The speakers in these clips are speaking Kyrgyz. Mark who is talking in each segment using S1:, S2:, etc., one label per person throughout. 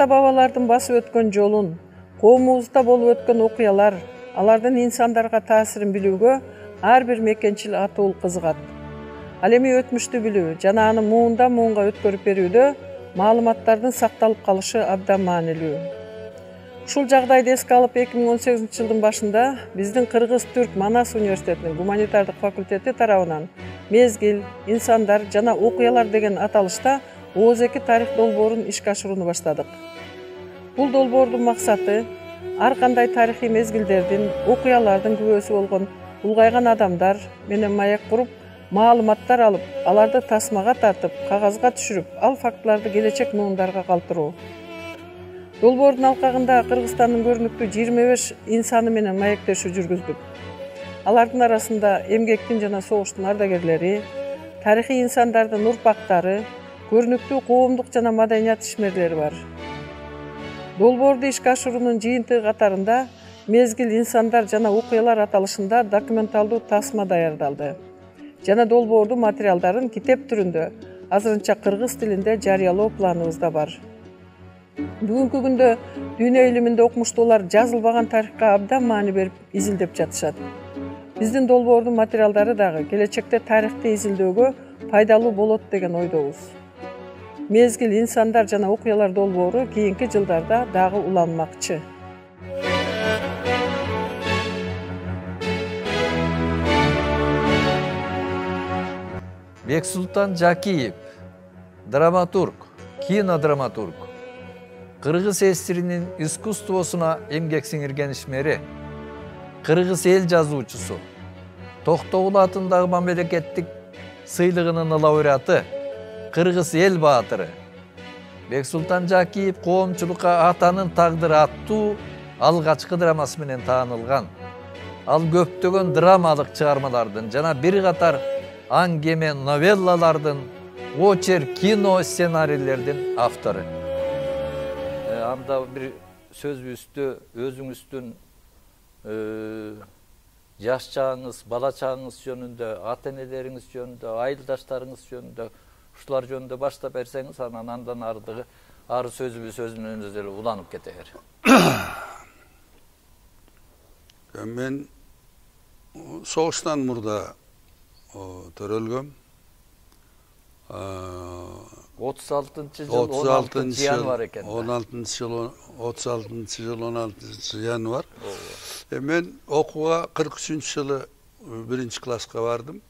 S1: ата-бабалардын басып өткөн жолун, коомубузда болуп өткөн окуялар, алардын инсандарга таасирин билүүгө ар бир мекенчил атуул кызыгат. Ал эми өтмүштү билүү жана аны муундан муунга өткөрүп берүүдө маалыматтардын сакталып калышы абдан маанилүү. Ушул жагдайды эске алып 2018 жылдын башында биздин Кыргыз-Түрк Манас университетинин гуманитардык факультети тарабынан мезгил, инсандар жана окуялар деген аталышта ооз-2 тарых долбоорун ишке ашырууну баштадык. Бул долбоордун максаты ар кандай тарыхый мезгилдердин, окуялардын күбөсү болгон улгайган адамдар менен маек куруп, маалыматтар алып, аларды тасмага тартып, кагазга түшүрүп, ал фактыларды келечек муундарга калтыруу. Долбоордун алкагында Кыргызстандын көрүнүктүү 25 инсаны менен маектешүү жүргүздүк. Алардын арасында эмгектин жана согуштун ардагерлери, тарыхый инсандардын урпактары, көрүнүктүү коомдук жана маданият ишмерлери бар. Долбоорду ишке ашыруунун жыйынтыгы катарында мезгил, инсандар жана окуялар аталышында документалдуу тасма даярдалды жана долбоордун материалдарын китеп түрүндө азырынча кыргыз тилинде жарыялоо планыбызда бар. Бүгүнкү күндө дүйнө илиминде окумуштуулар жазылбаган тарыхка абдан маани берип изилдеп жатышат. Биздин долбоордун материалдары дагы келечекте тарыхты изилдөөгө пайдалуу болот деген ойдобуз. Мезгил, инсандар жана окуялар долбоору кийинки жылдарда дагы уланмакчы.
S2: Бексултан Жакиев, драматург, кинодраматург, кыргыз эсиринин искусствосуна эмгек сиңирген ишмери, кыргыз эл жазуучусу, Токтогул атындагы мамлекеттик сыйлыгынын лауреаты, кыргыз эл баатыры. Бексултан Жакиев коомчулукка Атанын тагдыры аттуу алгачкы драмасы менен таанылган. Ал көптөгөн драмалык чыгармалардын жана бир катар аңгеме новеллалардын, очерк, кино сценарийлердин автору. Анда бир сөзүбүздү өзүңүздүн жаш чагыңыз, бала чагыңыз жөнүндө, ата энелериңиз жөнүндө, айылдаштарыңыз жөнүндө, ушулар жөнүндө баштап берсеңиз, андан ары сөзүбүз өзүнөн өзү эле уланып кетер.
S3: Мен согуштан мурда төрөлгөм.
S2: 36-жыл 16 январ экен.
S3: 36 жыл 16 январ. Мен окууга 43-жылы 1-класска бардым.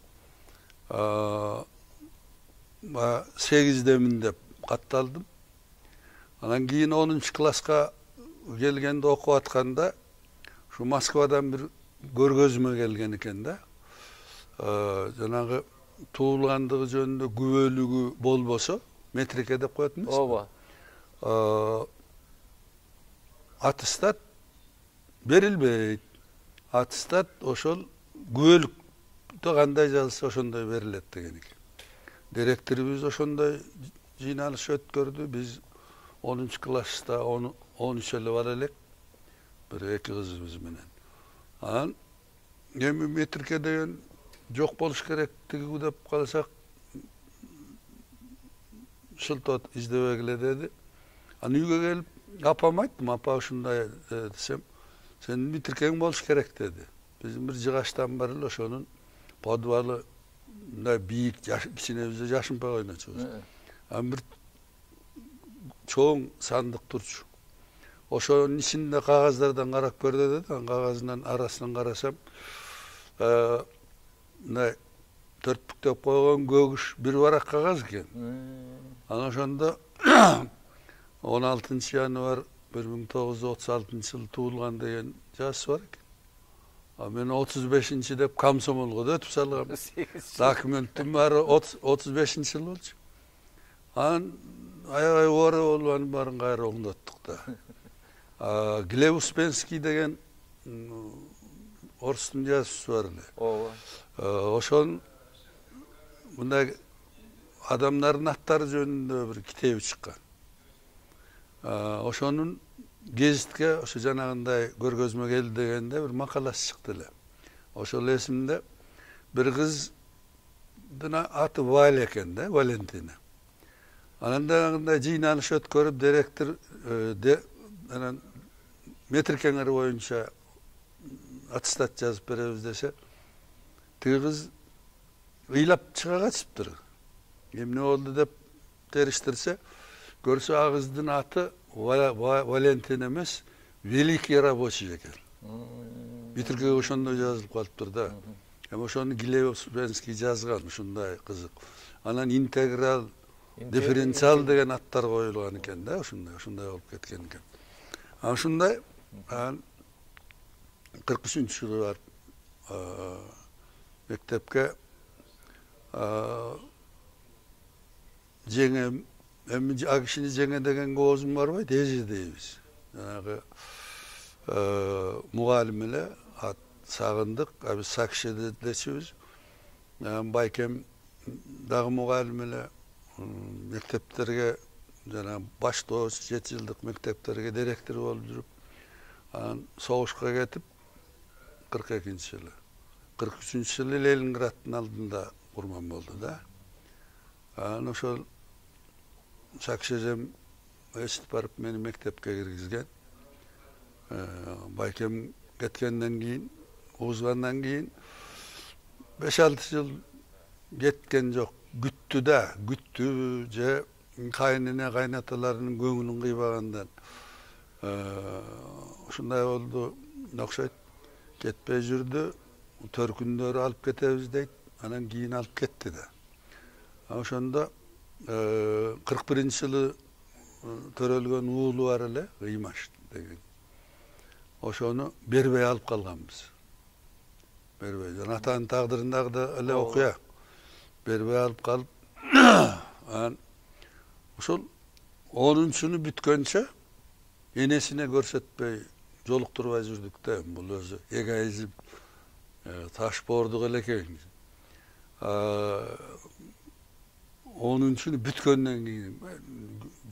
S3: 8демин деп катталдым. Анан кийин 10-класска келгенде окуп атканда ушу Москвадан бир көргөзмө келген экен да. Жанагы туулгандыгы жөнүндө күбөлүгү болбосо, метрике деп коет эмеспи?
S2: Ооба.
S3: Аттестат берилбейт. Аттестат ошол күбөлүктө кандай жазылса ошондой берилет деген экен. Директорубуз ошондой жыйналыш өткөрдү. Биз 10-класста 13 эле бала элек. Бир 2 кызыбыз менен. Анан эми метрике деген жок болуш керектиги деп калсак шылтоо издебегиле деди. Анан үйгө келип апама айттым, апа ушундай десем, сенин метрикең болуш керек деди. Биздин бир жыгаштан бар эле ошонун подвалы мындай бийик, кичине биз жашынпай ойночубуз. Анан бир чоң сандык турчу. Ошонун ичинде кагаздардан карап көр деди. Анан кагазынын арасынан карасам, мындай төртпүктөп койгон көгүш бир барак кагаз экен. Анан ошондо 16 январ 1936 жыл туулган деген жазышы бар экен. Мен 35 деп комсомолго да өтүп салгам. Документтин баары 35 жыл болчу. Анан аябай оора болуп анын баарын кайра оңдоттук да. Глеб Успенский деген орустун жазуучусу бар эле.
S2: Ооба.
S3: Ошон мындай адамдардын аттары жөнүндө бир китеби чыккан. Ошонун гезитке ошо жанагындай көргөзмө келди дегенде бир макаласы чыкты эле. Ошол эсимде бир кыздын аты Валя экен да, Валентина. Анан дагы жыйналыш өткөрүп, директор де анан метр кеңери боюнча аттестат жазып беребиз десе, тиги кыз ыйлап чыга качыптыр. Эмне болду деп териштирсе, көрсө ал кыздын аты Валентин эмес, Великий рабочий экен. Битиркеге ошондой жазылып калыптыр да. Эми ошону Гилевский жазган, ушундай кызык. Анан интеграл, дифференциал деген аттар коюлган экен да, ушундай болуп кеткен экен. Ушундай 43-жылы барып мектепке жеңем, эми ал кишини жеңе дегенге оозум барбайт, эже дейбиз. Жанагы мугалим эле ат Сагындык, биз Сакшеде дечүбүз. Байкем дагы мугалим эле мектептерге жана баштооч 7 жылдык мектептерге директор болуп жүрүп, анан согушка кетип 42-жылы. 43-жылы Ленинграддын алдында курман болду да. Анан ошол Сакшежем эсип барып мени мектепке киргизген. Байкем кеткенден кийин, угузгандан кийин 5-6 жыл кеткен жок. Күттү же кайнене кайнаталарынын көңүлүн кыйбагандан ушундай болду окшойт. Кетпей жүрдү. Төркүндөрү алып кетебиз дейт. Анан кийин алып кетти да. Ошондо 41-жылы төрөлгөн уулу бар эле, Ыймаш деген. Ошону бербей алып калганбыз. Бербей. Жана атанын тагдырындагы да эле окуя. Бербей алып калып, анан ошол 10-чуну бүткөнчө энесине көрсөтпөй жолуктурбай жүрдүк да. Бул өзү эгоизм, таш боордук эле экен. 10-чуну бүткөндөн кийин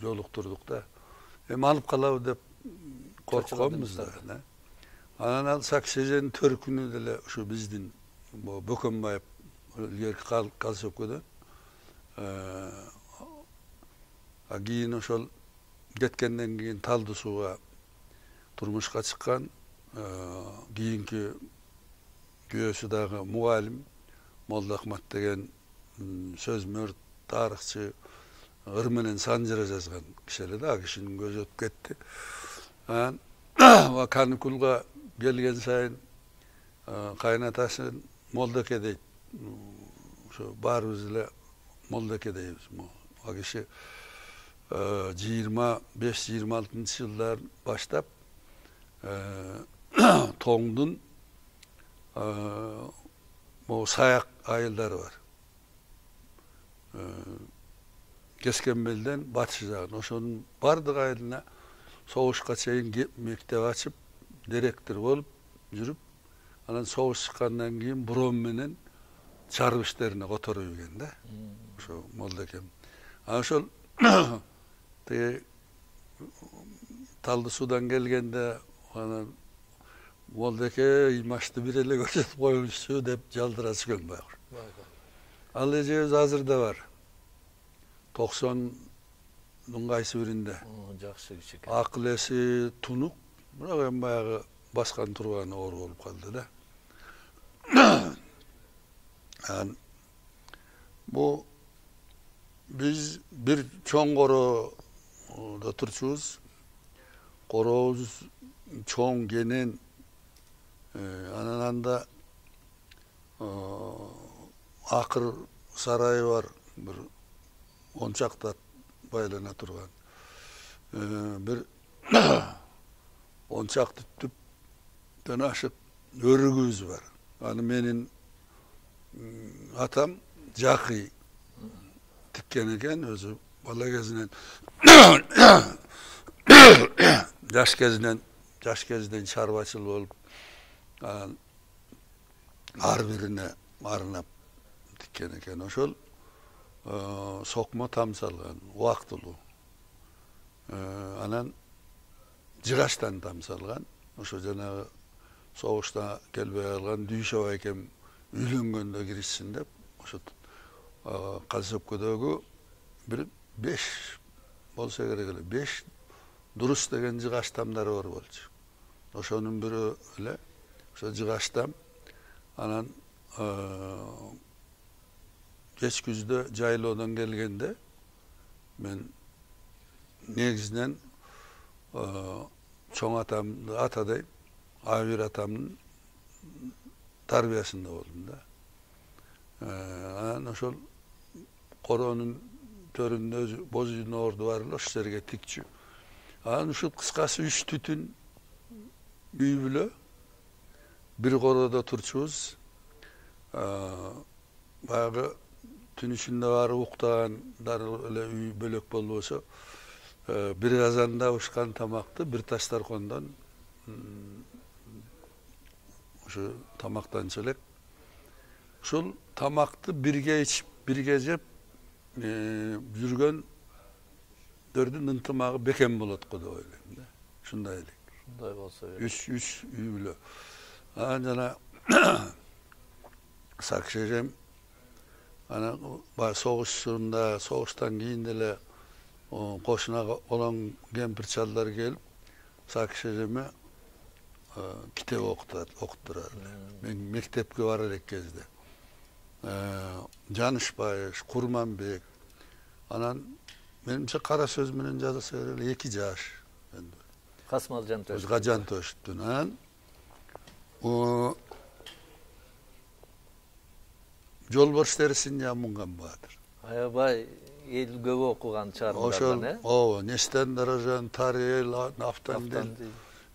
S3: жолуктурдук да. Эми алып калабы деп коркконбуз да. Анан ал Сакшеженин төркүнү деле ушу биздин Бөкөнбаев илгерки Калсөкөдөн кийин ошол кеткенден кийин Талды сууга турмушка чыккан, кийинки күйөөсү дагы мугалим Молдоахмат деген сөзмөр, тарыхчы, ыр менен санжыра жазган киши эле да, кишинин көзү өтүп кетти. Анан каникулга келген сайын кайнатасын Молдоке дейт. Ошо баарыбыз эле Молдоке дейбиз. Ал киши 25-26 жылдар баштап Тоңдун саяк айылдары бар. Кескенбелден батыш жагын, ошонун бардык айылына согушка чейин мектеп ачып, директор болуп жүрүп, анан согуш чыккандан кийин буром менен чарып иштерине которуп жүргөн да. Ошо Молдокем. Ошол Талды суудан келгенде анан Молдоке Ыймашты бир эле көрсөтүп коюңузчу деп жалдырачу экен баягы. Ал эжебиз азырда бар. 90-нын кайсы биринде.
S2: Жакшы киши экен.
S3: Акыл эси тунук, бирок эми баягы баскан турганы оор болуп калды да. Бу биз бир чоң короодо турчубуз. Корообуз чоң кенен, анан анда акыр сарайы бар, бир 10 чакта байлана турган. Бир 10 чакты түптөн ашык өрүгүбүз бар. Аны менин атам Жакый тиккен экен, өзү бала кезинен жаш кезинен чарбачыл болуп, ар бирине арнап тиккен экен. Ошол сокмо там салган, убактылуу. Анан жыгаштан там салган. Ошо жанагы согушта келбей калган Дүйшө байкем үйлөнгөндө киришсин деп, ошо Калсөккөдөгү бир 5 болсо керек эле, 5 Дурус деген жыгаштамдары бар болчу. Ошонун бирөө эле ошо жыгаштам. Анан кеч күздө жайлоодон келгенде мен негизинен чоң атамды атадайм, Абир атамдын тарбиясында болдум да. Анан ошол короонун төрүндө боз үйдүн орду бар эле, ошол жерге тикчү. Анан ушул кыскасы 3 түтүн үй бүлө бир короодо турчубуз. Баягы түн ичинде баары уктагандар эле үй бөлөк болбосо, бир казанда ушкан тамакты бир тастаркондон ошо тамактанчу элек. Ушул тамакты бирге ичип, бирге жеп жүргөндөрдүн ынтымагы бекем болот го деп ойлойм да. Ушундай элек.
S2: Ушундай болсо керек.
S3: Үч үй бүлө. Анан жана Сакыш эжем анан баягы согуштан кийин деле кошунага олоң кемпир чалдар келип Сакыш эжеме китеп окуттурат. Мен мектепке бара элек кезде. Жанышбай, Курманбек. Анан менимче кара сөз менен жазса эле 2 жаш.
S2: Касмал Жантөш.
S3: Жантөштүн. Анан Жолборс терисин жамынган Баатыр.
S2: Аябай эл көп окуган чарындардан,
S3: Ооба, Нестен Даражан, Тарел, Нафтандин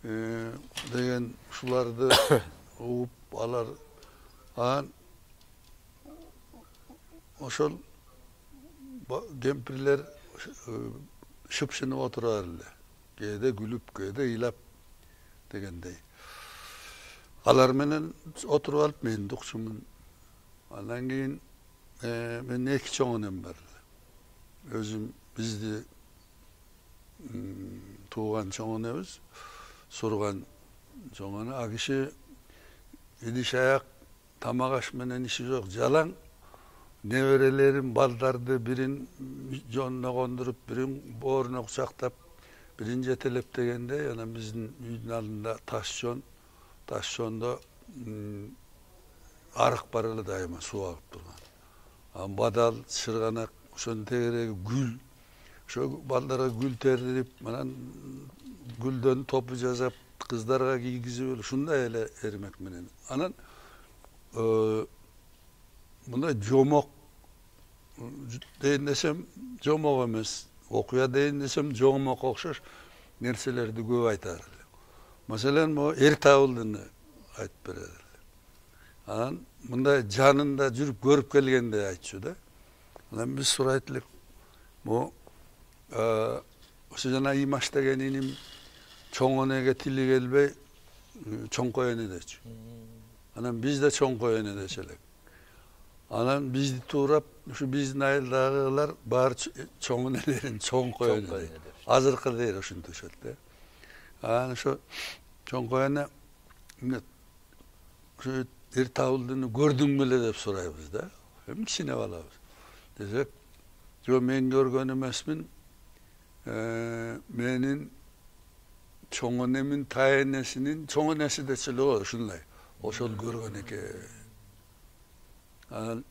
S3: деген ушуларды угуп алар. Анан ошол кемпирлер шыпшынып отурар эле. Кээде күлүп, кээде ыйлап дегендей. Алар менен отуруп алып мен дукчумун. Андан кийин мен 2 чоң энем бар эле. Өзүм бизди тууган чоң энебиз, сурган чоң эне. А киши идиш аяк тамак аш менен иши жок, жалаң неберелерин, балдарды бирин жонуна кондуруп, бирин бооруна кучактап, бирин жетелеп дегенде, анан биздин үйдүн алдында таш жондо арык бар эле дайыма суу агып турган. Анан бадал, чырганак, ошонун тегереги гүл. Ошо балдарга гүл тердирип, анан гүлдөн топу жасап, кыздарга кийгизип, ушундай эле эрмек менен. Анан мындай жомок дейин десем, жомок эмес. Окуя дейин десем, жомок окшош нерселерди көп айтар эле. Маселен, эр табылдыны айтып берет эле. Анан мындай жанында жүрүп көрүп келгенде айтчу да. Анан биз сурайт элек. Ошо жана Имаш деген иним чоң энеге тили келбей чоңкой эне дечү. Анан биз да чоңкой эне дечү элек. Анан бизди туурап, ушу биздин айылдагылар баары чоң энелерин чоңкой эне дейт. Азыркы дейт ошентишет да. Анан ошо чоңкой эне ошо эр табылдыны көрдүң беле деп сурайбыз да. Кичине балабыз. Десек, жо мен көргөн эмесмин. Менин чоң энемин тайенесинин чоң энеси дечү эле го ушундай. Ошол көргөн экен. Анан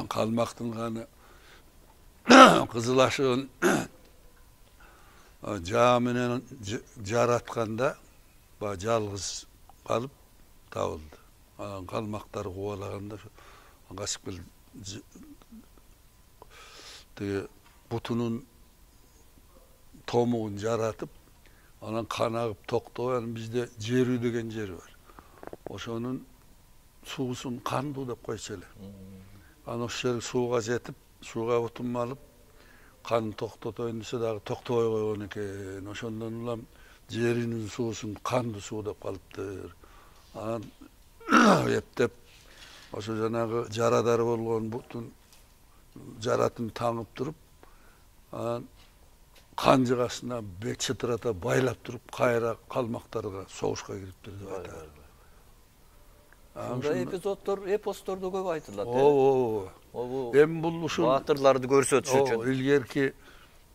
S3: калмактын каны кызыл ашыгын жаа менен жаратканда баягы жалгыз калып табылды. Анан калмактар кубалаганда качып келип тиги бутунун томугун жаратып, анан кан агып токтобой, анан бизде жерүү деген жер бар. Ошонун суусун кандуу деп койчу эле. Анан ошол жер сууга жетип, сууга бутун малып, кан токтотоюн десе дагы токтобой койгон экен. Ошондон улам жеринин суусун кандуу суу деп калыптыр. Анан эптеп ошо жанагы жарадар болгон бутун жаратын таңып туруп, анан кан жыгасына бек чытырата байлап туруп, кайра калмактарга согушка кириптир деп айтат.
S2: Мындай эпизоддор эпостордо көп айтылат.
S3: Ооба. Эми бул ушул
S2: баатырларды көрсөтүш үчүн.
S3: Илгерки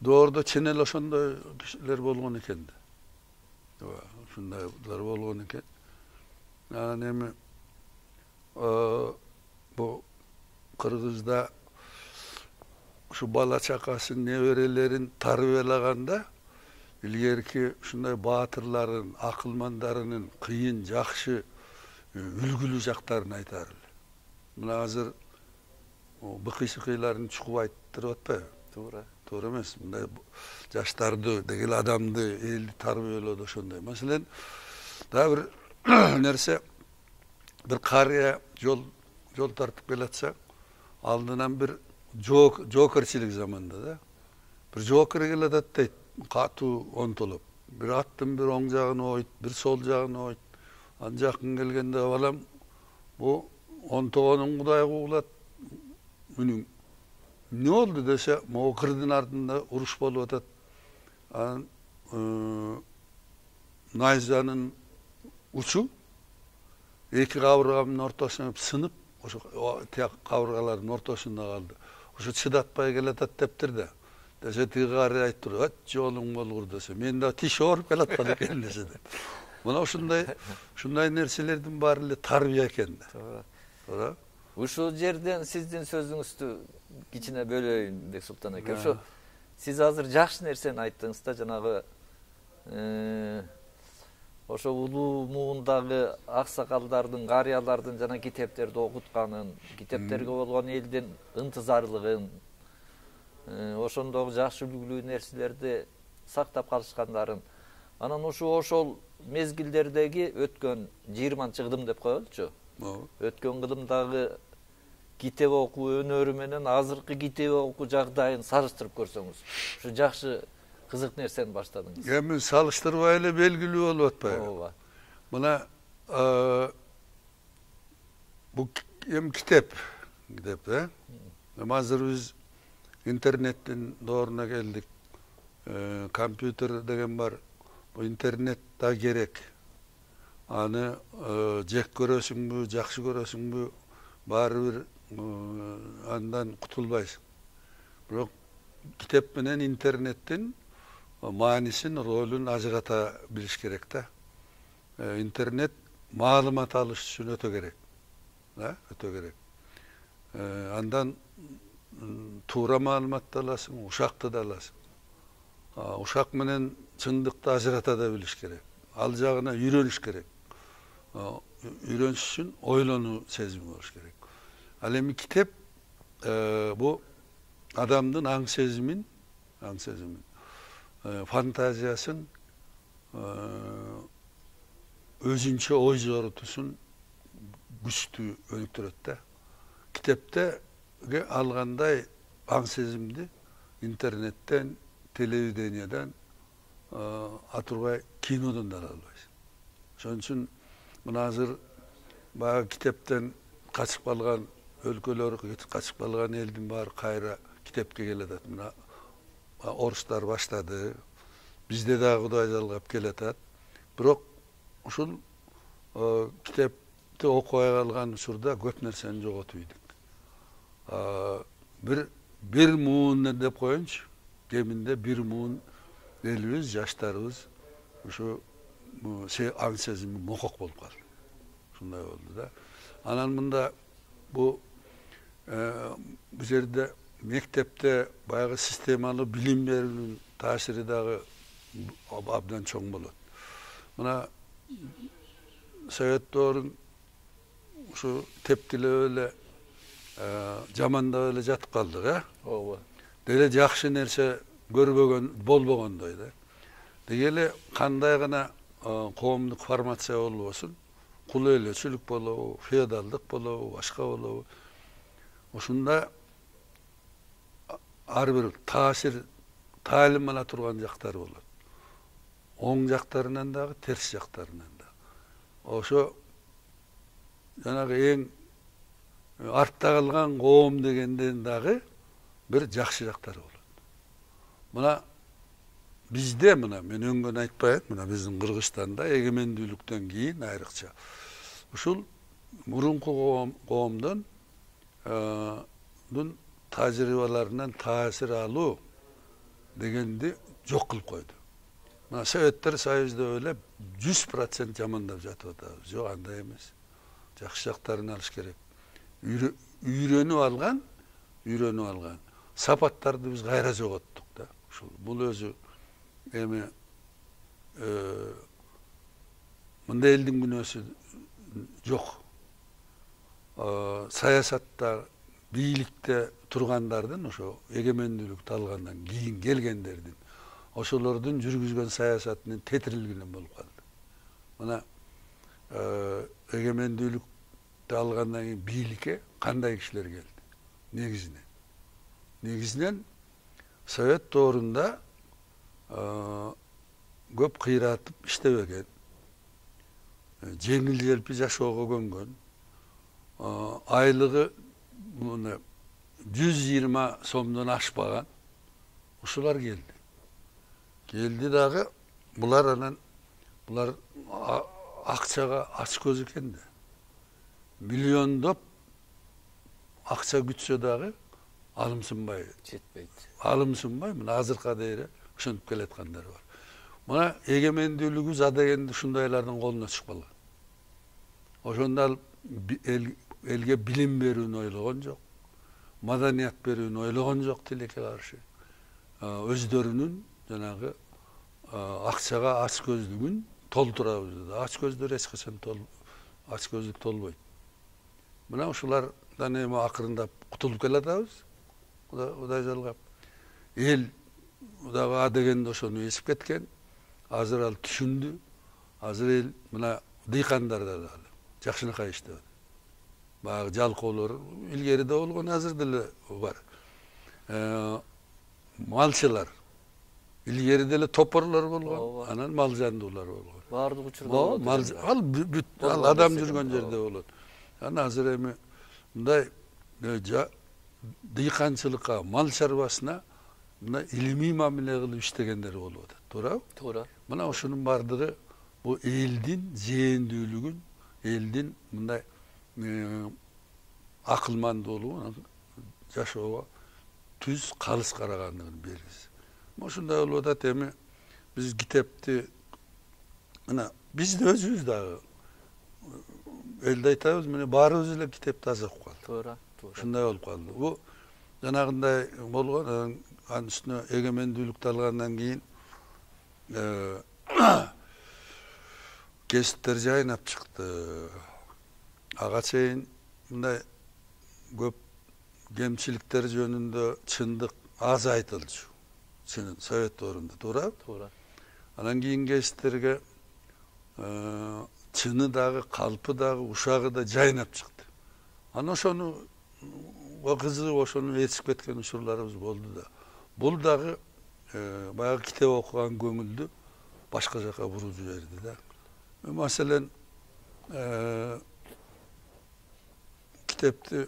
S3: доордо чын эле ошондой кишилер болгон экен да. Ооба, ушундайлар болгон экен. Анан эми бу Кыргызда ушу бала чакасын, неберелерин тарбиялаганда илгерки ушундай баатырлардын, акылмандарынын кыйын, жакшы, үлгүлүү жактарын айтар эле. Мына азыр быкый-сыкыйларын чукуп айттырып атпайбы?
S2: Туура.
S3: Туура эмес. Мындай жаштарды, дегеле адамды, элди тарбиялоодо ошондой. Маселен, дагы бир нерсе, бир карыя жол тартып келатса, алдынан бир жоокерчилик заманда да. Бир жоокер келатат дейт, катуу онтолуп. Бир аттын бир оң жагын ойт, бир сол жагын ойт. Ан жакын келгенде балам, бу онтогонун Кудай куулат, үнүң эмне болду десе, могу кырдын артында уруш болуп атат. Анан найзанын учу эки кабырганын ортосуна сынып, ошо тияк кабыргалардын ортосунда калды. Ошо чыдатпай келатат дептир да. Десе тиги кары айтып, "Ат жолуң болгур" десе, мен да тиш ооруп келаткан экен десе. Мына ушундай нерселердин баары эле тарбия экен да. Туура.
S2: Ушул жерден сиздин сөзүңүздү кичине бөлөйүн, Бексултан аке. Ошо сиз азыр жакшы нерсени айттыңыз да, жанагы ошо улуу муундагы аксакалдардын, карыялардын жана китептерди окутканын, китептерге болгон элдин ынтызарлыгын, ошондогу жакшы үлгүлүү нерселерди сактап калышкандарын, анан ошол мезгилдердеги өткөн 20-чы кылым деп коелучу. Өткөн кылымдагы китеп окуу өнөрү менен азыркы китеп окуу жагдайын салыштырып көрсөңүз, ушу жакшы кызык нерсени баштадыңыз.
S3: Эми салыштырбай эле белгилүү болуп атпайбы?
S2: Ооба.
S3: Мына бу эми китеп да. Эми азыр биз интернеттин дооруна келдик. Компьютер деген бар. Бу интернет да керек. Аны жек көрөсүңбү, жакшы көрөсүңбү, баары бир андан кутулбайсың. Бирок китеп менен интернеттин маанисин, ролун ажырата билиш керек да. Интернет маалымат алыш үчүн өтө керек. Да, өтө керек. Андан туура маалыматты аласың, ушакты да аласың. Ушак менен чындыкты ажырата да билиш керек. Ал жагына үйрөнүш керек. Үйрөнүш үчүн ойлонуу сезими болуш керек. Ал эми китеп бу адамдын аң сезимин, фантазиясын, өзүнчө ой жорутусун күчтүү өнүктүрөт да. Китептеге алгандай аң сезимди интернеттен, телевидениядан, атурбай кинодон да ала албайсың. Ошон үчүн мына азыр баягы китептен качып калган өлкөлөр, качып калган элдин баары кайра китепке келатат. Мына орустар баштады, бизде дагы Кудай жалгап келатат. Бирок ушул китепти окубай калган учурда көп нерсени жоготуп ийдик. Бир муун деп коеюнчу, кеминде бир муун элибиз, жаштарыбыз ушу аң сезими мокок болуп калды. Ушундай болду да. Анан мында бу жерде мектепте баягы системалуу билим берүүнүн таасири дагы абдан чоң болот. Мына Совет доорун ушу тептилеп эле, жамандап эле жатып калдык,
S2: Ооба.
S3: Деле жакшы нерсе көрбөгөн, болбогондой да. Дегеле кандай гана коомдук формация болбосун, кул ээлечилик болобу, феодалдык болобу, башка болобу, ушунда ар бир таасир, таалим ала турган жактары болот. Оң жактарынан дагы, терс жактарынан дагы. Ошо жанагы эң артта калган коом дегенден дагы бир жакшы жактары болот. Мына бизде, мына мен өңгөн айтпайм, мына биздин Кыргызстанда эгемендүүлүктөн кийин айрыкча ушул мурунку коомдон тажрыйбаларынан таасир алуу дегенди жок кылып койду. Мына Советтер Союзда эле 100% жамандап жатып атабыз. Жок, андай эмес. Жакшы жактарын алыш керек. Үйрөнүп алган сапаттарды биз кайра жоготтук да. Ушул бул өзү эми мындай элдин күнөөсү жок. Саясатта, бийликте тургандардын, ошо эгемендүүлүктү алгандан кийин келгендердин, ошолордун жүргүзгөн саясатынын тетирилгени болуп калды. Мына эгемендүүлүктү алгандан кийин бийликке кандай кишилер келди? Негизинен Совет доорунда көп кыйратып иштебеген, жеңил желпи жашоого көнгөн, айлыгы 120 сомдон ашпаган ушулар келди. Келди дагы булар акчага ач көз экен да. Миллиондоп акча күтсө дагы алымсынбай
S2: жетпейт.
S3: Мына азыркыга дейин ошентип келаткандар бар. Мына эгемендүүлүгүбүз адегенде ушундайлардын колуна түшүп калган. Ошондо элге билим берүүнү ойлогон жок, маданият берүүнү ойлогон жок тилекке каршы. Өздөрүнүн жанагы акчага ач көздүгүн толтурабыз деди. Ач көздөр эч качан ач көздүк толбойт. Мына ушулардан эми акырындап кутулуп келатабыз. Кудай жалгап. Эл дагы адегенде ошону эсип кеткен. Азыр ал түшүндү. Азыр эл мына дыйкандар да жакшынакай иштеп. Баягы жалкоолор илгери да болгон, азыр деле бар. Малчылар илгери деле топорлор болгон, анан мал жандуулар болгон.
S2: Баардык учурда
S3: ал адам жүргөн жерде болот. Анан азыр эми мындай дыйканчылыкка, мал чарбасына мына илимий мамиле кылып иштегендер болуп атат. Туурабы?
S2: Туура.
S3: Мына ошонун бардыгы бул элдин зээндүүлүгүн, элдин мындай акылмандуулугун, жашоого түз калыс карагандыгын белгиси. Ошондой болуп атат. Эми биз китепти мына биз өзүбүз дагы элде айтабыз, мына баарыбыз эле китепти аз окуп калдык.
S2: Туура.
S3: Ушундай болуп калды. Бул жанагындай болгон, анын үстүнө эгемендүүлүктү алгандан кийин кесиптер жайнап чыкты. Ага чейин мындай көп кемчиликтер жөнүндө чындык аз айтылчу. Совет доорунда, туурабы?
S2: Туура.
S3: Анан кийин кесиптерге чыны дагы, калпы дагы, ушагы да жайнап чыкты. Анан ошону кызыгып ошону ээрчип кеткен учурларыбыз болду да. Бул дагы баягы китеп окуган көңүлдү башка жака буруп жиберди да. Маселен китепти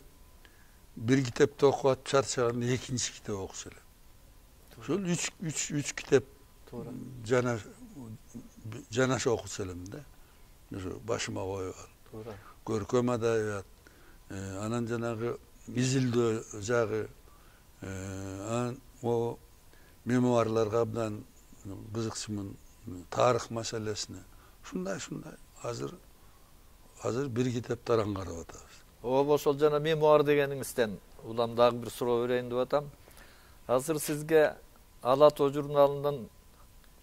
S3: бир китепти окуп атып чарчаганда экинчи китеп окуса элем. Ошол үч китеп жанаша окуса элем да. Ошо башыма коюп ал.
S2: Туура.
S3: Көркөм адабият, анан жанагы изилдөө жагы, анан мемуарларга абдан кызыкчумун, тарых маселесине. Ушундай азыр бир китепти араң карап атабыз.
S2: Ошол жана мемуар дегениңизден улам дагы бир суроо берейин деп атам. Азыр сизге Ала Тоо журналынын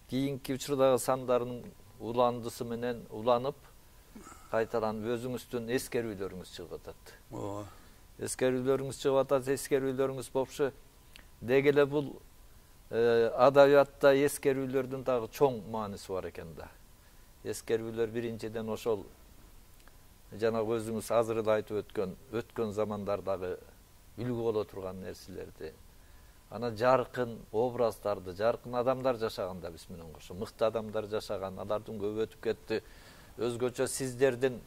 S2: кийинки учурдагы сандарынын уландысы менен уланып, кайталанып өзүңүздүн эскерүүлөрүңүз чыгып атат. Эскерүүлөрүңүз чыгып атат, эскерүүлөрүңүз болушу деги эле бул адабиятта эскерүүлөрдүн дагы чоң мааниси бар экен да. Эскерүүлөр биринчиден ошол жанагы өзүңүз азыр эле айтып өткөн замандардагы үлгү боло турган нерселерди, анан жаркын образдарды, жаркын адамдар жашаган да биз менен кошо, мыкты адамдар жашаган, алардын көбү өтүп кетти. Өзгөчө сиздердин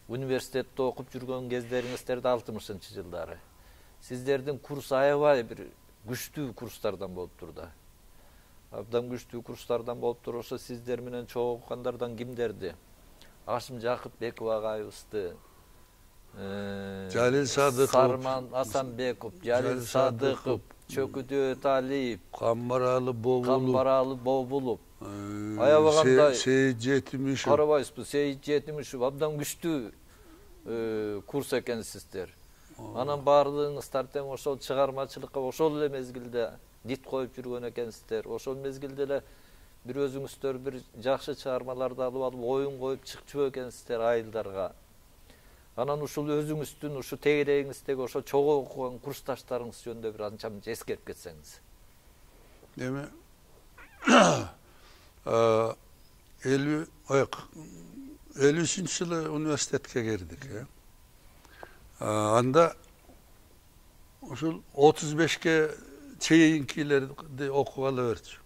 S2: университетте окуп жүргөн кездериңиздерди 60-жылдары. Сиздердин курс аябай бир күчтүү курстардан болуптур да. Абдан күчтүү курстардан болуптур. Ошо сиздер менен чогуу окугандардан кимдерди? Ашым Жакыпбеков агайыбызды,
S3: Жалил Садыков,
S2: Сарман Асанбеков, Жалил Садыков, Чөкүдө Талип,
S3: Камбаралы
S2: Бобулов. Аябаганда
S3: Сейит Жетимишев.
S2: Карабайсызбы, Сейит Жетимишев абдан күчтүү курс экенсиздер. Анан баардыгыңыздар тең ошол чыгармачылыкка ошол эле мезгилде дит коюп жүргөн экенсиздер. Ошол мезгилде эле бир өзүңүздөр бир жакшы чыгармаларды алып оюн коюп чыкчу экенсиздер айылдарга. Анан ушул өзүңүздүн ушу тегерегиңиздеги ошо чогуу окуган курсташтарыңыз жөнүндө бир анча мынча эскерип кетсеңиз.
S3: Эми 53-жылы университетке кирдик. Анда ушул 35ке чейинкилерди окугалы берчү.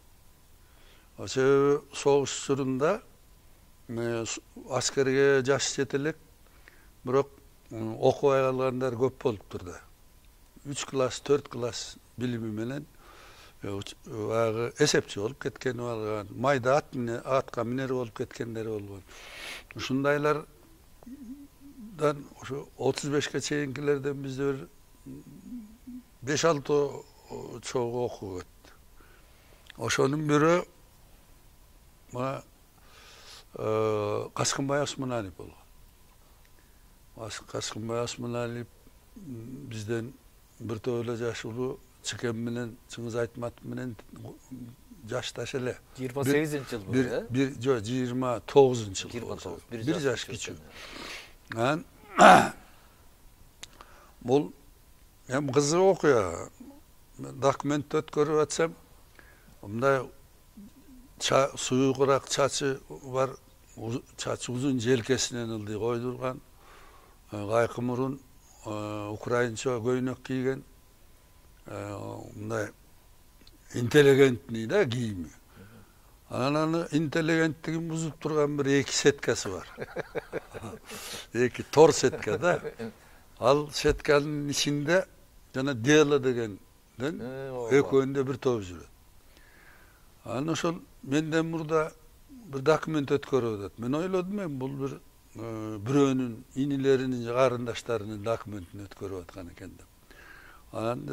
S3: Себеби согуш учурунда аскерге жаш жете элек, бирок окубай калгандар көп болуптур да. 3 класс, 4 класс билими менен баягы эсепчи болуп кеткени болгон, майда атка минер болуп кеткендери болгон. Ушундайлардан ошо 35ке чейинкилерден бизде 5-6 чогуу окуп өттү. Ошонун бирөө Каскынбай Осмоналиев болгон. Каскынбай Осмоналиев бизден бир топ эле жаш улуу, Чыкем менен Чыңгыз Айтматов менен жашташ эле.
S2: 28-жыл бул, э?
S3: Жок, 29-жыл.
S2: 29,
S3: бир жаш кичүү. Анан бул эми кызык окуя. Документ өткөрүп атсам, мындай суюгураак чачы бар, чачы узун, желкесинен ылдый койдурган, кайкы мурун, украинча көйнөк кийген, мындай интеллигентный да кийими. Анан интеллигенттигин бузуп турган бир 2 сеткасы бар. 2 тор сетка да. Ал сетканын ичинде жана дело дегенден экөөндө бир топ жүрөт. Анан ошол менден мурда бир документ өткөрүп атат. Мен ойлодум, бул бир бирөөнүн инилеринин, карындаштарынын документин өткөрүп аткан экен деп. Анан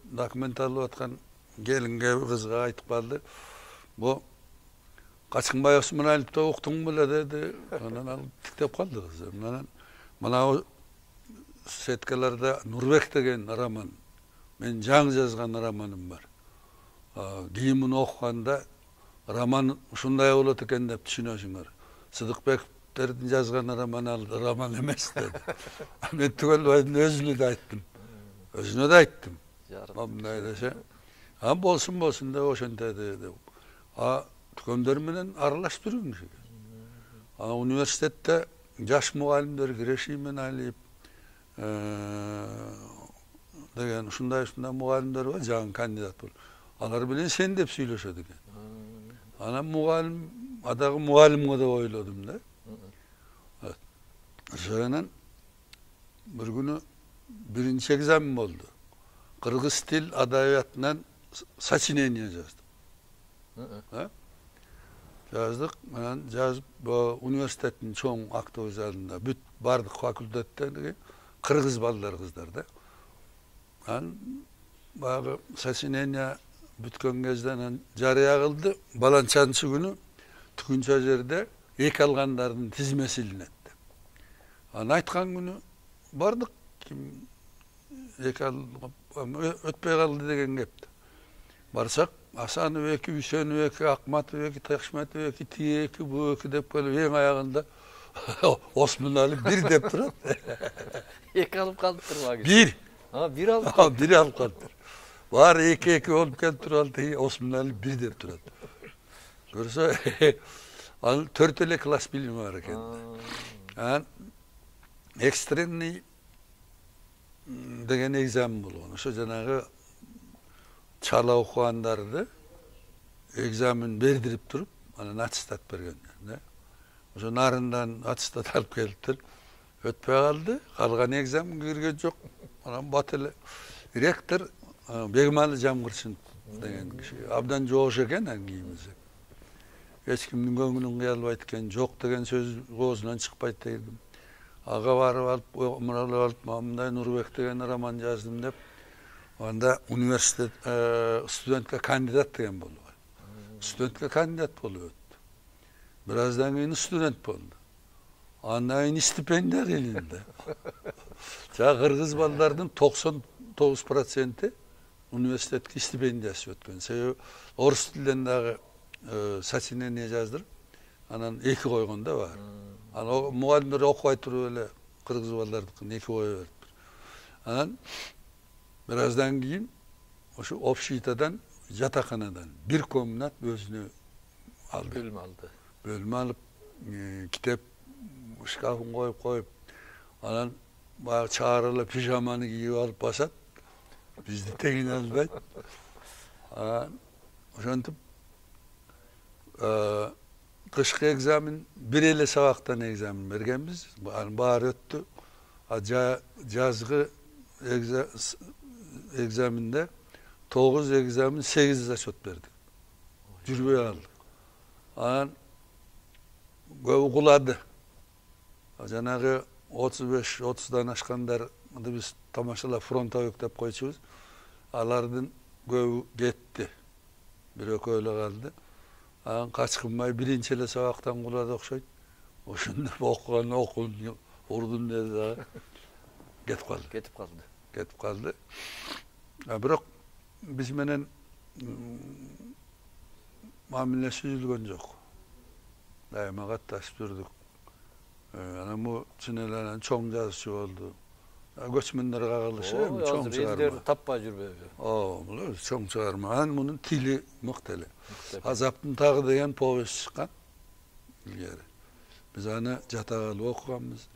S3: документ алып аткан келинге, кызга айтып калды. Бу Качкынбай Осмоналиевди уктуң беле деди. Анан ал тиктеп калды кыз. Анан мына сеткаларда Нурбек деген роман, мен жаңы жазган романым бар. Кийимин окуганда роман ушундай болот экен деп түшүнөсүңөр. Сыдыкбековдердин жазган роман ал роман эмес деди. Мен Түгөлбайдын өзүнө да айттым. Мындай десе, болсун деп ошентеди деп. Түгөндөр менен аралашып жүргүмүш экен. Университетте жаш мугалимдер Грешимен Алиев деген ушундай мугалимдер бар, жаңы кандидат болуп. Алар менен сен деп сүйлөшөт экен. Анан мугалим, адагы мугалимге деп ойлодум да. Ошондон бир күнү биринчи экзамен болду. Кыргыз тил адабиятынан сочинение жаздым. Жаздык, анан жазып, университеттин чоң автобус залында бүт бардык факультеттен кыргыз балдар, кыздар да. Анан баягы сочинение бүткөн кезде анан жарыя кылды. Баланчанчы күнү түкүнчө жерде эки алгандардын тизмеси илинет деп. Анан айткан күнү бардык, ким эки өтпөй калды деген кепти. Барсак, Асанов эки, Үсөнов эки, Акматов эки, Ташматов эки, тие эки, бу эки деп келип, эң аягында Осмоналиев 1 деп турат.
S2: Эки алып калыптыр багы.
S3: 1.
S2: Бир алып.
S3: Бир алып калыптыр. Баары эки болуп келип туралды, Осмоналиев 1 деп турат. Көрсө, анын 4 эле класс билими бар экен. Анан экстренный деген экзамен болгон. Ошо жанагы чала окугандарды экзамен бердирип туруп, анан аттестат бергендер да. Ошо нарындан аттестат алып келиптир. Өтпөй калды, калган экзаменге кирген жок. Анан бат эле ректор Бегмалы Жамгырчынов деген киши абдан жоош экен кийимизи. Эч кимдин көңүлүн кыя албайт экен, жок деген сөз оозунан чыкпайт дегем. Ага барып алып, муралап алып, мындай Нурбек деген роман жаздым деп. Анда университет студентке кандидат деген болду. Студентке кандидат болуп өттү. Bir azdan kийин студент болду. Андан кийин стипендия келинди. Жа кыргыз балдардын 99% университетке стипендиясы өткөн. Себеби орус тилинен дагы сочинение жаздырып, анан 2 койгондо бар. Анан мугалимдер окубай туруп эле кыргыз балдардыкын 2 кое берип. Анан bir azdan кийин ошо общитадан жатаканадан 1 комнат өзүнө алды.
S2: Бөлмө алды.
S3: Bölme alıp kitap şkafın koyup anan bayağı çağırılı pijamanı giyip alıp basat. Biz de tekin albayt. Oşantıp kışkı egzamin bir ele sabaktan egzamin bergenmiz. Bahar öttü. Жазgı egzaminde 9 egzamin 8 açot berdi. Жүрбөй aldı. Anan көп кулады. Жанагы 35-30дан ашкандар биз тамашалап фронтовик деп койчубуз. Алардын көбү кетти. Бирөө эле калды. Анан качкынбай биринчи эле сабактан кулады окшойт. Ошондо окуган окуун урдун деди дагы. Кетип калды. Бирок биз менен мамилеси үзүлгөн жок. Дайыма катташып жүрдүк. Анан бу чын эле чоң жазуучу болду. Көчмөндөр кагылышы чоң чыгарма.
S2: Элдер таппай жүрбөйбү.
S3: Бул чоң чыгарма. Анан мунун тили мыкты эле. Азаптын тагы деген повесть чыккан. Илгери. Биз аны жатак алып окуганбыз.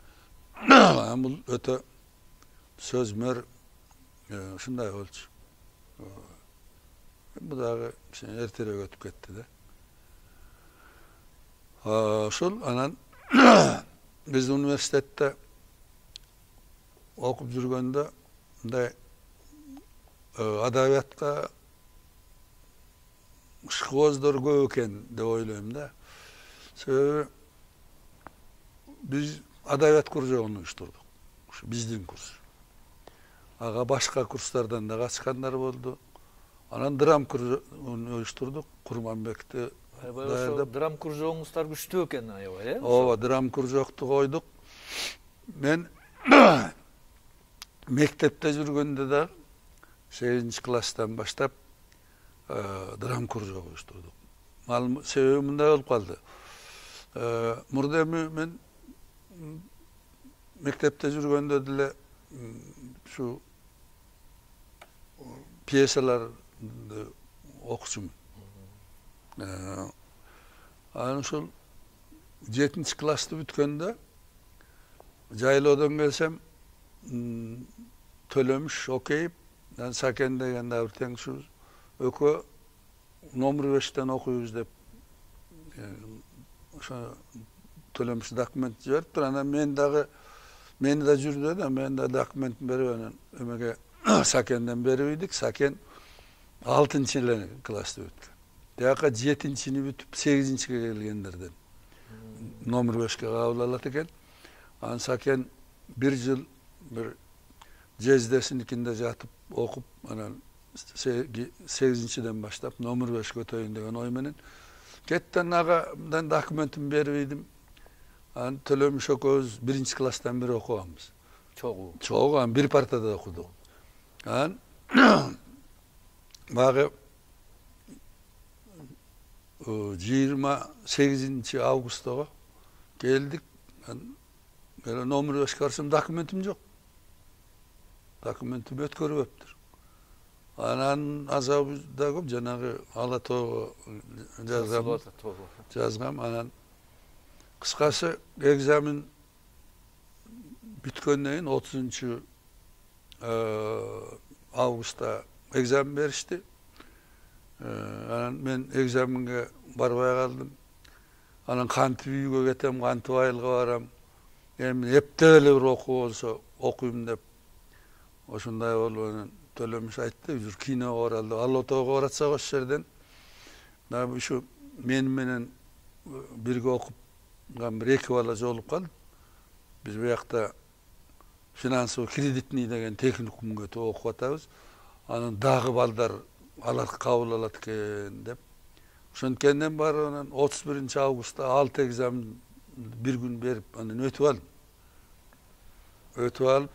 S3: Анан бул өтө сөзмөр ушундай болчу. Bu dagı erterek ötüp ketdi de. Ошол анан биз университетте окуп жүргөндө мындай адабиятка ышкыбоздөр көп экен деп ойлойм да. Себеби биз адабият кружогун уюштурдук. Ушу биздин курс. Ага башка курстардан да качкандар болду. Анан драм кружогун уюштурдук. Курманбекти
S2: даярдап. Драм кружогуңуздар күчтүү экен аябай, э?
S3: Ооба, драм кружокту койдук. Мен мектепте жүргөндө да 8-класстан баштап драм кружок уюштурдук. Себеби мындай болуп калды. Мурда мен мектепте жүргөндө деле ушу пьесалар окучумун. Анан ошол 7-классты бүткөндө жайлоодон келсем Төлөмүш окейип, Сакен деген да бир теңишибиз экөө номер 5-тен окуйбуз деп ошо Төлөмүш документ жибериптир. Анан мени да жүрдү да, мен да документин берип анан эмеге Сакенден берип идик. Сакен 6-классты бүткөн. Дияка 7-ни бүтүп 8-ге келгендерден номер 5-ке кабыл алат экен. Анан Сакен 1 жыл бир жездесиникинде жатып окуп, анан 8-ден баштап номер 5 өтөйүн деген ой менен кеттен агадан документин берип идим. Анан Төлөмүш экөөбүз 1-класстан бери окуганбыз. Чогуу, анан бир партада окудук. Анан багы 28 августога келдик. Номер 5 барсам документим жок. Документим өткөрүлбөптүр. Анан азабы да көп, жанагы Ала тоого жазгам. Анан кыскасы экзамен бүткөндөн кийин 30 августта экзамен беришти. Анан мен экзаменге барбай калдым. Анан кантип үйгө кетем, кантип айылга барам. Эми эптеп эле бир окуу болсо окуйм деп ошондой болуп анан Төлөмүш айтты, жүр киного баралы. Ала тоого баратсак ошол жерден дагы ушу мен менен бирге окупкан бир 2 бала жолугуп калды. Биз бу жакта финансовый кредитный деген техникумга окуп атабыз. Анан дагы балдар алар кабыл алат экен деп. Ошонткенден баары анан 31 августта 6 экзамен bir gün берип анан өтүп алдым. Өтүп алып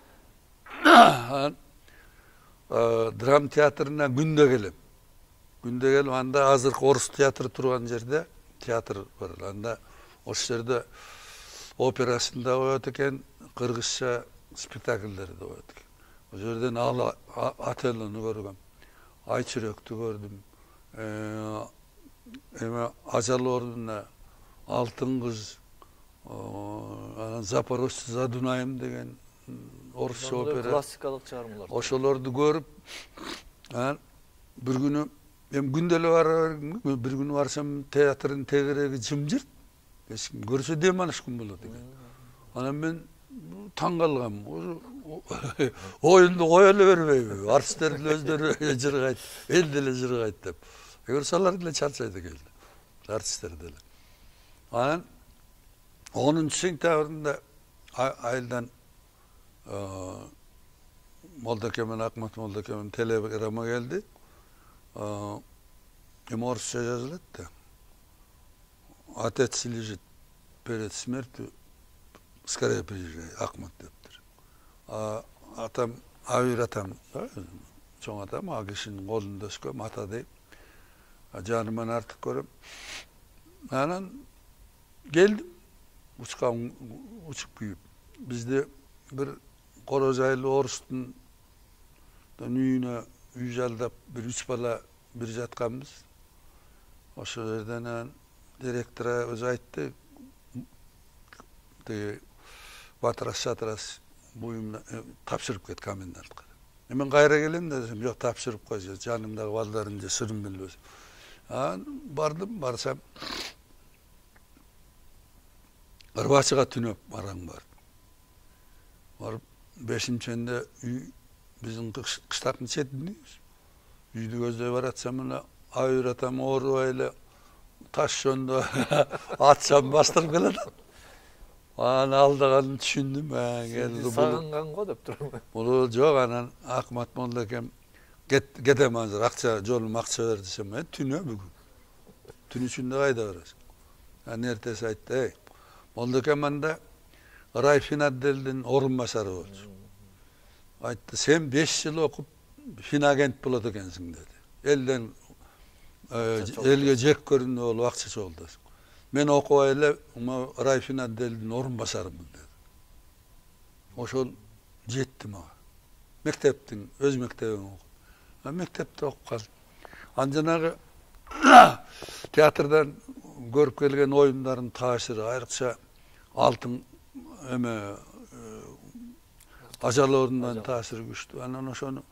S3: анан драма театрына күндө келем. Күндө келип анда азыркы орус театры турган жерде театр бар. Анда ошол жерде операсында коет экен, кыргызча спектакльдерди коет экен. Ошол жерден ал Отеллону көргөм, Айчүрөктү көрдүм. Эме Ажал ордуна Алтын кыз, анан Запорожцы за Дунаем деген орусча опера.
S2: Классикалык чыгармалар.
S3: Ошолорду көрүп, анан бир күнү эми күндө эле барам, бир күнү барсам театрдын тегереги жымжырт. Эч ким көрсө дем алышкан болот экен. Анан мен таң калгам. Оюнду кое эле бербейби? Артисттер деле өздөрү жыргайт, эл деле жыргайт деп. Көрсө алар деле чарчайт экен. Артисттер деле. Анан 10-сентябрында айылдан Молдокемен, Акмат Молдокемен телеграмма келди. Эми орусча жазылат да. Отец лежит перед смертью, скорее приезжай, Акмат дептир. Атам, Авир атам, чоң атам, а кишинин колунда өскөм, ата дейм. Жаныман артык көрөм. Анан келдим, учуп күйүп. Бизде бир коро жайлуу орустун үйүнө үй жалдап, бир 3 бала бир жатканбыз. Ошол жерден директор өзү айтты, батырас-шатырас буюмна тапшырып кет комендантка. Мен кайра келем десем, жок тапшырып койчу, жанымдагы балдарын же сырын билбесин. Бардым, барсам Ырбачыга түнөп бараң бар. Барып 5-ченде үй биздин кыштактын четинде. Үйдү көздөй баратсам мына Айыр атам оорубай эле таш жондо атчам бастырып келет. Анан алдыганын түшүндүм. Келди
S2: сагынган го деп турмун.
S3: Бул жок, анан Акмат Молдокем кетем азыр, акча жолум акча бер десем, түнө бүгүн. Түн ичинде кайда барасың? Анан эртеси айтты, Молдокем анда Райфин отделдин орун басары болчу. Айтты, сен 5 жыл окуп финагент болот экенсиң деди. Элден элге жек көрүндү болуп акча чогултасың. Мен окубай эле Райфин отделдин орун басарымын деди. Ошол жетти мага. Мектептин өз мектебин окуп. Мектепте окуп калдым. Анан жанагы театрдан көрүп келген оюндардын таасири айрыкча алтын эме Ажал ордунан таасири күчтүү. Анан ошону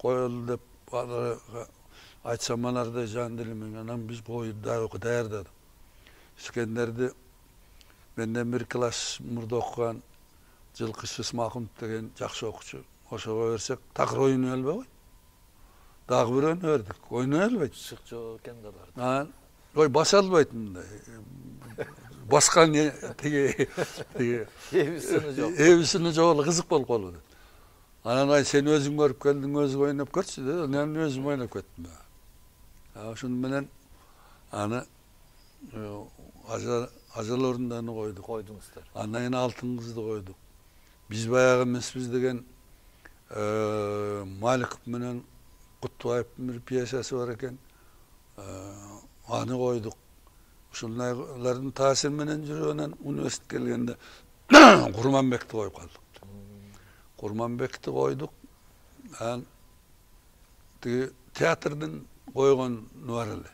S3: коелу деп айтсам алардай жан дилимен, анан биз бою даярдадык. Искендерди менден бир класс мурда окуган Жылкышы Исмакунов деген жакшы окуучу. Ошого берсек, такыр ойной албай. Дагы бирөөнү бердик. Ойной албайт.
S2: Шык жок экен да бар.
S3: Анан баса албайт мындай. Баскан тиги
S2: эбисини жок.
S3: Эбисини жок, кызык болуп калды. Анан сен өзүң көрүп келдиң, өзүң ойноп көрчү деди. Мен өзүм ойноп кеттим. Ошону менен аны Ажал ордундан
S2: койдуңуздар.
S3: Андан кийин Алтын кызды койдук. Биз баягы эмеспиз деген Маликов менен Кутбаевдин бир пьесасы бар экен. Аны койдук. Ушулардын таасири менен жүрүп анан университетке келгенде Курманбекти коюп калдык. Курманбекти койдук. Анан тиги театрдын койгону бар эле.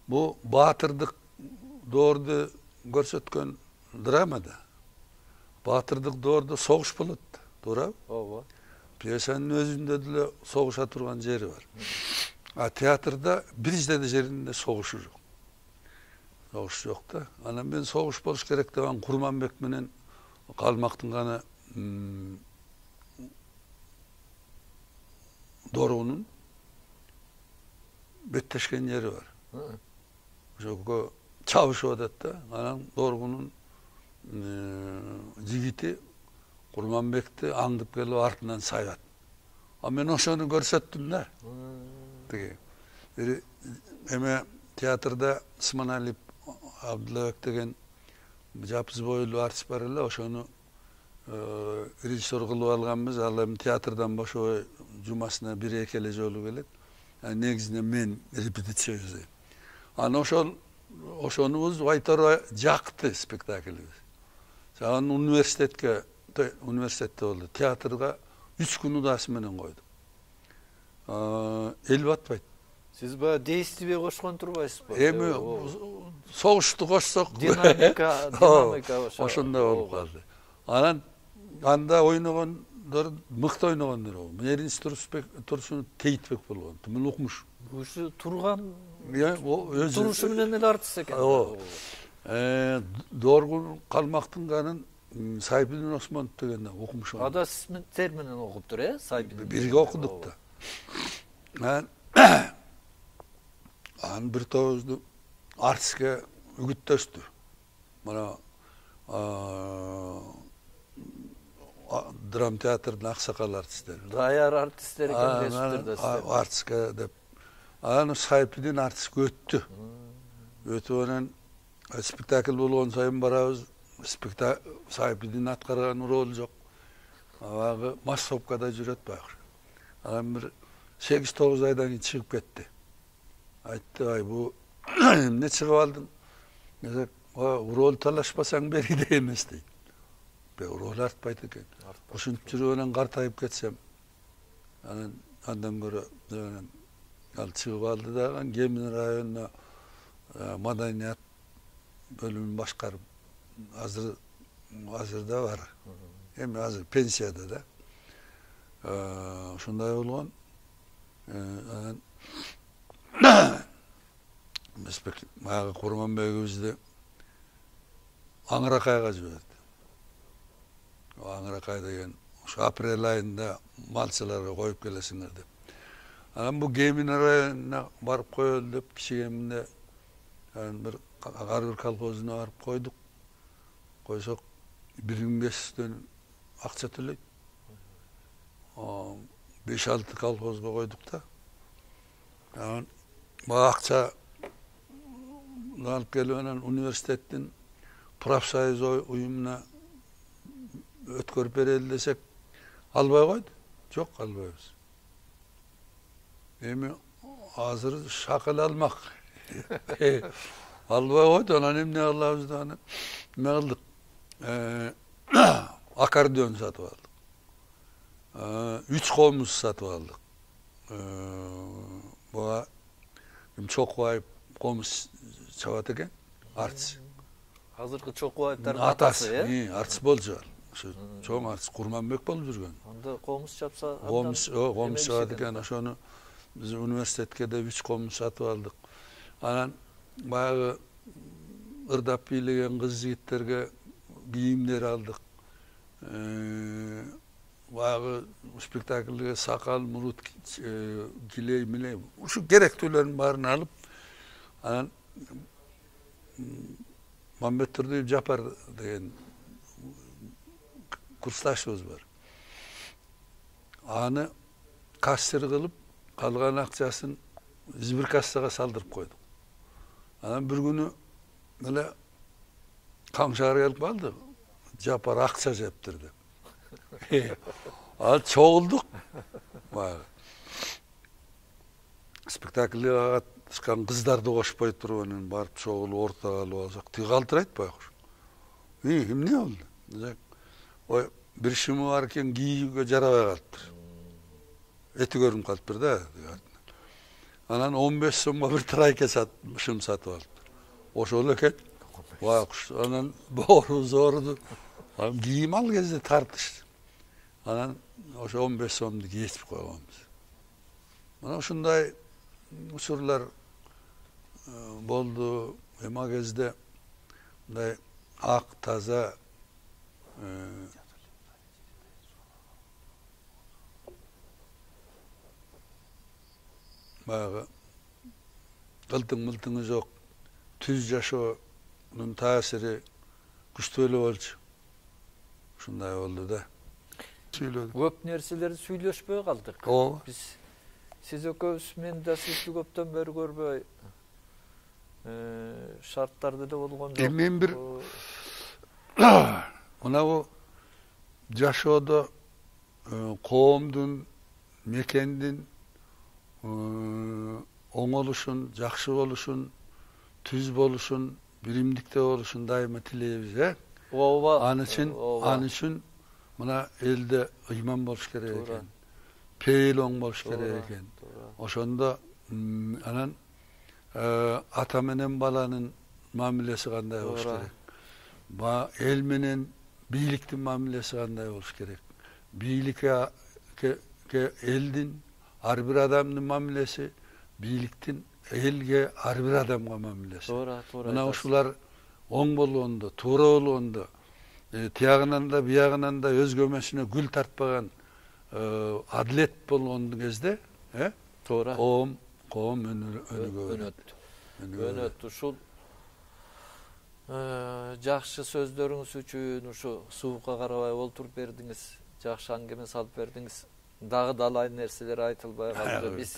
S3: Бу баатырдык доорду көрсөткөн драмада. Баатырдык доордо согуш болот, туурабы?
S2: Ооба.
S3: Пьесанын өзүндө деле согуша турган жери бар. А театрда биринчи жеринде согушу жок. Согуш жок да. Анан мен согуш болуш керек деген Курманбек менен Калмактын гана доорунун беттешкен жери бар. Ошого чабышып атат да. Анан дооргунун жигити Курманбекти аңдып келип артынан сайат. мен ошону көрсөттүм да. Тиги эме театрда Сманалиев Абдуллабек деген жапыз бойлуу артист бар эле, ошону режиссер кылып алганбыз. Ал эми театрдан бошобой жумасына 1-2 эле жолу келет. Негизинен мен репетиция жасайм. Аны ошонубуз Байторо жакты спектаклибиз. Анан университетте болду. Театрга 3 күн удасы менен койдук. Эл батпайт.
S2: Сиз баягы действие кошкон турбайсызбы?
S3: Эми согушту кошсок,
S2: динамика
S3: ошондой болуп калды. Анан анда ойногондор мыкты ойногондор болду. Меринс Турсунов Тейтбек болгон. Мен укмуш.
S2: Ушу турган
S3: өзү
S2: турушу менен эле артист экен.
S3: Доргун Калмактын канын Сайбидин Осмонов деген укмуш.
S2: Ада сиздер менен окуптур, Сайбидин.
S3: Бирге окудук да. Анан бир тобузду артистке үгүттөштү. Мына драм театрдын аксакал артисттери.
S2: Даяр артисттер экен десиптир да сиздер.
S3: Артистке деп. Анан Сайбидин артистке өттү. Өтүп анан спектакль болгон сайын барабыз. Сайбидин аткарган ролу жок. Баягы массовкада жүрөт баягы. Анан бир 8-9 айдан кийин чыгып кетти. Айтты, бу эмне чыгып алдың? Десек, рол талашпасаң бериде эмес дейт. Рол артпайт экен. Ушинтип жүрүп анан картайып кетсем, андан көрө ал чыгып алды дагы, Кемин районуна маданият бөлүмүн башкарып, азырда бар. Эми азыр пенсияда да. Ушундай болгон. Баягы Курманбегибизди Аңыракайга жиберди. Аңыракай деген ушу апрель айында малчыларга коюп келесиңер деп. Анан бу Кемин районуна барып коелу деп кичигеминде бир ар бир колхозуна барып койдук. Койсок 1500 акча төлөйт. 5-6 колхозго койдук да. Анан бул акча алып келип анан университеттин профсоюз уюмуна өткөрүп берели десек, албай койду. Жок, албайбыз. Эми азыр шакал алмак. Албай койду, анан эмне кылабыз деп анан эме кылдык. Аккордеон сатып алдык. 3 комуз сатып алдык. Буга Чокубаев комуз чабат экен, артист.
S2: Азыркы Чокубаевдардын атасы,
S3: артист болчу. Ошо чоң артист Курманбек болуп жүргөн.
S2: Анда комуз чапса,
S3: комуз чабат экен. Ошону биз университетке де 3 комуз сатып алдык. Анан баягы ырдап бийлеген кыз жигиттерге кийимдер алдык. Баягы спектакльге сакал, мурут, килей, милей, ушу керектүүлөрдүн баарын алып, анан Мамбет Турдуев Жапар деген курсташыбыз бар. Аны кассир кылып, калган акчасын сберкассага салдырып койдук. Анан бир күнү эле камшаар келип калды. Жапар акча жептир деп. Ал чогулдук. Спектакльге катышкан кыздарды кошпой туруп анан барып чогулуп ортого алып алсак, тиги калтырайт баягы. Эмне болду? Ой, бир шымы бар экен, кийүүгө жарабай калыптыр. Эти көрүнүп калыптыр да. Анан 15 сомго бир трайка шым сатып алыптыр. Ошол экен. Анан боорубуз ооруду. Кийим ал кезде тартыш. Анан ошо 15 сомду кесип койгонбуз. Мына ушундай учурлар болду. Эми кезде мындай ак, таза баягы ылтың-мылтыңы жок, түз жашоонун таасири күчтүү эле болчу. Ушундай болду да. сүйлөдүк.
S2: Көп нерселерди сүйлөшпөй калдык.
S3: Ооба.
S2: Биз сиз экөөбүз мен да сизди көптөн бери көрбөй шарттарды да болгон жок.
S3: Мен бир мынабу жашоодо коомдун, мекендин оңолушун, жакшы болушун, түз болушун, биримдикте болушун дайыма тилейбиз,
S2: Ооба.
S3: Аны үчүн мына элде ыйман болуш керек экен. Пейил оң болуш керек экен. Ошондо анан ата менен баланын мамилеси кандай болуш керек? Эл менен бийликтин мамилеси кандай болуш керек? Бийликке элдин, ар бир адамдын мамилеси, бийликтин элге, ар бир адамга мамилеси. Мына ушулар оң болгондо, туура болгондо, тиягынан да биягынан да өз көмөсүнө гүл тартпаган адилет болгон кезде, коом
S2: өнөт. Ушул жакшы сөздөрүңүз үчүн ушу суукка карабай олтуруп бердиңиз, жакшы аңгеме салып бердиңиз. Дагы далай нерселер айтылбай калды. Биз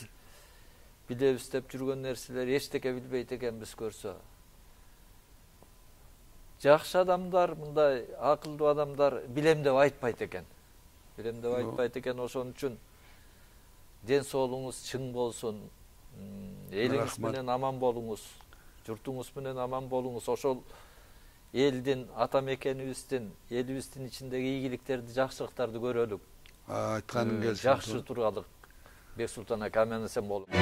S2: билебиз деп жүргөн нерселер эчтеке билбейт экенбиз көрсө. Жакшы адамдар, мындай акылдуу адамдар билем деп айтпайт экен. Ошон үчүн ден соолугуңуз чың болсун, элиңиз менен аман болуңуз, журтуңуз менен аман болуңуз. Ошол элдин, ата мекенибиздин, элибиздин ичиндеги ийгиликтерди, жакшылыктарды көрөлүк.
S3: Айтканың келсин.
S2: Жакшы туралык. Бексултан ака, аман эсен болуңуз.